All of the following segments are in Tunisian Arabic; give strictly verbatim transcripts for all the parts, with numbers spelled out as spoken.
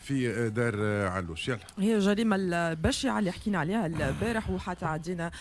في دار علوش. يلا هي الجريمة البشعة اللي حكينا عليها البارح، وحتى عدينا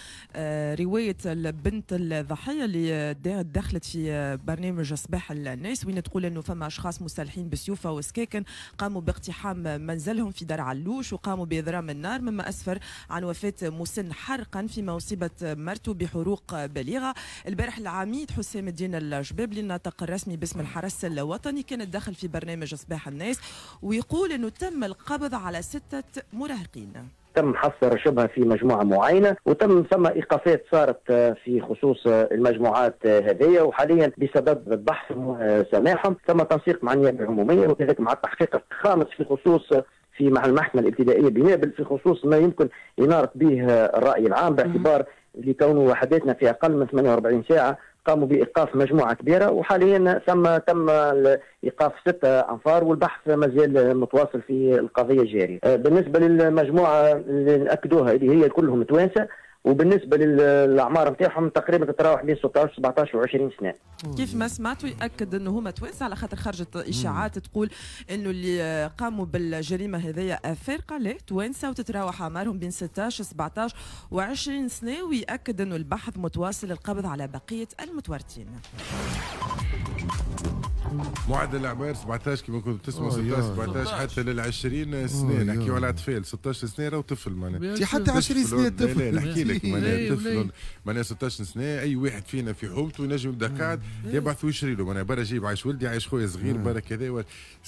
رواية البنت الضحية اللي دخلت في برنامج صباح الناس، وين تقول انه فما اشخاص مسلحين بسيوفه وسكاكن قاموا باقتحام منزلهم في دار علوش وقاموا باضرام النار، مما اسفر عن وفاه مسن حرقا فيما اصيبت مرته بحروق بليغة. البارح العميد حسام الدين الجبابلي الناطق الرسمي باسم الحرس الوطني كان دخل في برنامج صباح الناس ويقول انه تم القبض على ستة مراهقين. تم حصر شبهة في مجموعة معينة، وتم ثم إيقافات صارت في خصوص المجموعات هذه، وحاليا بسبب البحث سماحهم ثم تنسيق مع النيابة العمومية وكذلك مع التحقيق الخامس في خصوص في مع المحكمة الابتدائية بنابل في خصوص ما يمكن إنارة به الرأي العام، باعتبار لكونه وحداتنا في أقل من ثمانية وأربعين ساعة قاموا بإيقاف مجموعة كبيرة، وحاليا ثم تم إيقاف ستة أنفار والبحث مازال متواصل في القضية الجارية. بالنسبة للمجموعة اللي نأكدوها اللي هي كلهم توانسة، وبالنسبة للأعمار نتاعهم تقريبا تتراوح بين ستة عشر سبعة عشر وعشرين سنة. كيف ما سمعتوا يأكد انه هما توانسة، على خاطر خرجت إشاعات تقول انه اللي قاموا بالجريمة هذيا أفارقة، لا توانسة وتتراوح أعمارهم بين ستة عشر سبعة عشر وعشرين سنة، ويأكد انه البحث متواصل للقبض على بقية المتورطين. معدل الاعمار سبعة عشر كما كنت تسمع، ستة عشر سبعة عشر حتى لل عشرين سنة. نحكيو على اطفال ستة عشر سنة راهو طفل معناها، حتى عشرين سنة طفل. لا نحكي لك معناها طفل معناها ستة عشر سنة، اي واحد فينا في حومته ينجم يبدا قاعد يبعث ويشري له معناها برا جيب عايش ولدي عايش خويا صغير برا كذا.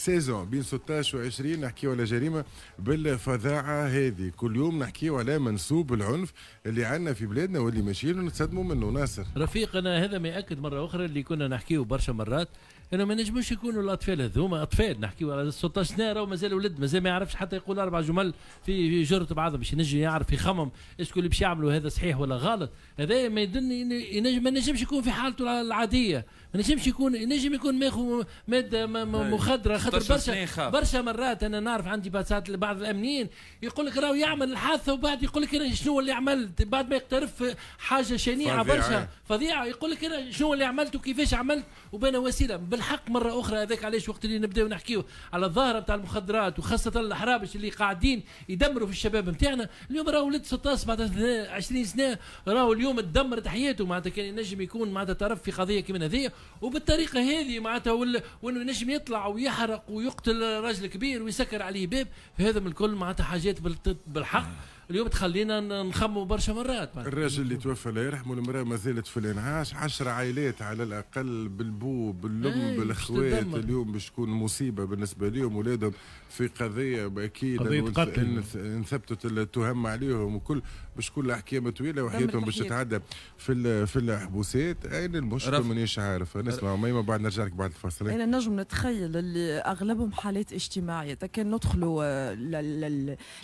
saison بين ستة عشر وعشرين نحكيو على جريمة بالفظاعه هذه. كل يوم نحكيو على منسوب العنف اللي عندنا في بلادنا واللي ماشيين ونتصدموا منه. ناصر رفيقنا هذا ما ياكد مرة اخرى اللي كنا نحكيو برشا مرات انه ما نجموش يكونوا الاطفال هذوما اطفال. نحكيو على ستة عشر سنة راهو مازال ولد، مازال ما يعرفش حتى يقول اربع جمل في جرة بعضهم باش ينجم يعرف يخمم est-ce que اللي باش يعملوا هذا صحيح ولا غلط. هذا ما يدل ما نجمش يكون في حالته العادية، ما نجمش يكون، ينجم يكون ماخذ مادة مخدره. خاطر برشا برشا مرات انا نعرف عندي بعض الامنيين يقول لك راهو يعمل الحادثة وبعد يقول لك انا شنو اللي عملت، بعد ما يقترف حاجة شنيعه برشا فظيعة يقول لك انا شنو اللي عملت وكيفاش عملت وبين وسيلة. بالحق مرة اخرى هذاك علاش وقت اللي نبداو نحكيو على الظاهرة نتاع المخدرات وخاصة الحرابش اللي قاعدين يدمروا في الشباب نتاعنا اليوم، راهو ولد ستة عشر سبعة عشر عشرين سنة راهو اليوم تدمرت حياته، معناتها كان ينجم يكون معناتها طرف في قضية كيما هذه وبالطريقه هذه معناتها، وانه ينجم يطلع ويحرق ويقتل راجل كبير ويسكر عليه باب. هذا من الكل معناتها حاجات بالحق اليوم تخلينا نخموا برشا مرات. الراجل اللي توفى الله يرحمه، المراة ما زالت في الانعاش، عشر عائلات على الاقل بالبو بالام بالاخوات اليوم باش تكون مصيبة بالنسبة لهم، ولادهم في قضية اكيد قضية قتل ان ثبتت التهم عليهم وكل باش تكون الاحكام طويلة وحياتهم باش تتعدى في في الحبوسات. اين المشكل مانيش عارف. نسمع ميمه بعد نرجع لك بعد الفاصل. انا نجم نتخيل اللي اغلبهم حالات اجتماعية، كان ندخلوا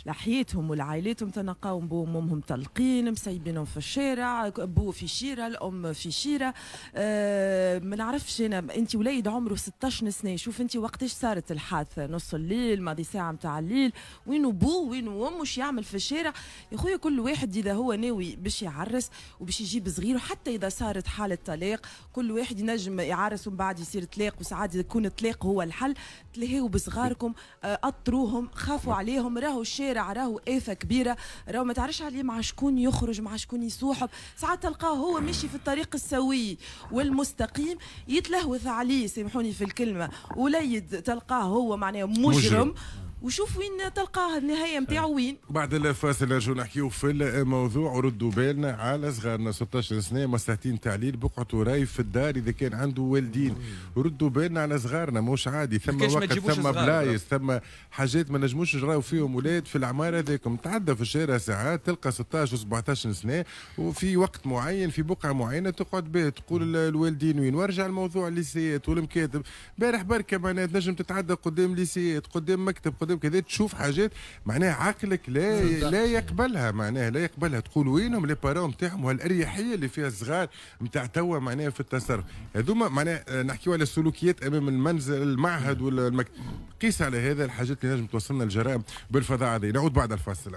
لحياتهم ولعائلاتهم تنقاو بوهم وامهم طلقين مسيبينهم في الشارع، بو في شيره الام في شيره. أه ما نعرفش انا، انت وليد عمره ستة عشر سنة، شوف انت وقتاش صارت الحادثة، نص الليل ماضي ساعة نتاع الليل، وينو بو وينو امه وش يعمل في الشارع؟ يا خويا كل واحد اذا هو ناوي باش يعرس وباش يجيب صغير، وحتى اذا صارت حاله طلاق كل واحد ينجم يعرس ومن بعد يصير طلاق، وساعات يكون الطلاق هو الحل. تلهيوا بصغاركم، اطروهم، خافوا عليهم، راهو الشارع راهو آفة كبيرة، راهو ما تعرفش عليه مع شكون يخرج مع شكون يصوحب. ساعات تلقاه هو ماشي في الطريق السوي والمستقيم يتلهوث عليه، سامحوني في الكلمة، وليد تلقاه هو معناه مجرم, مجرم. وشوف وين تلقاه النهاية نتاعو وين. بعد الفاصل نرجعوا نحكيو في الموضوع، وردوا بالنا على صغارنا ستة عشر سنة مصلحتين تعليل بقعته راي في الدار اذا كان عنده والدين. ردوا بالنا على صغارنا، مش عادي، ثم وقت ثم بلايص ثم حاجات ما نجموش نراو فيهم ولاد في الاعمار هذاكم. تعدى في الشارع ساعات تلقى ستة عشر و سبعة عشر سنة وفي وقت معين في بقعة معينة تقعد به تقول الوالدين وين. وارجع الموضوع الليسيات والمكاتب، بارح بركة معناها تنجم تتعدى قدام ليسيات قدام مكتب قدام كذا تشوف حاجات معناها عقلك لا لا يقبلها، معناها لا يقبلها. تقول وينهم les parents نتاعهم وهالاريحيه اللي فيها الصغار نتاع توا معناها في التصرف هذوما. معناها نحكيو على السلوكيات امام المنزل المعهد ولا المكتب. قيس على هذا الحاجات اللي نجم توصلنا الجرائم بالفظاعه هذه. نعود بعد الفاصل.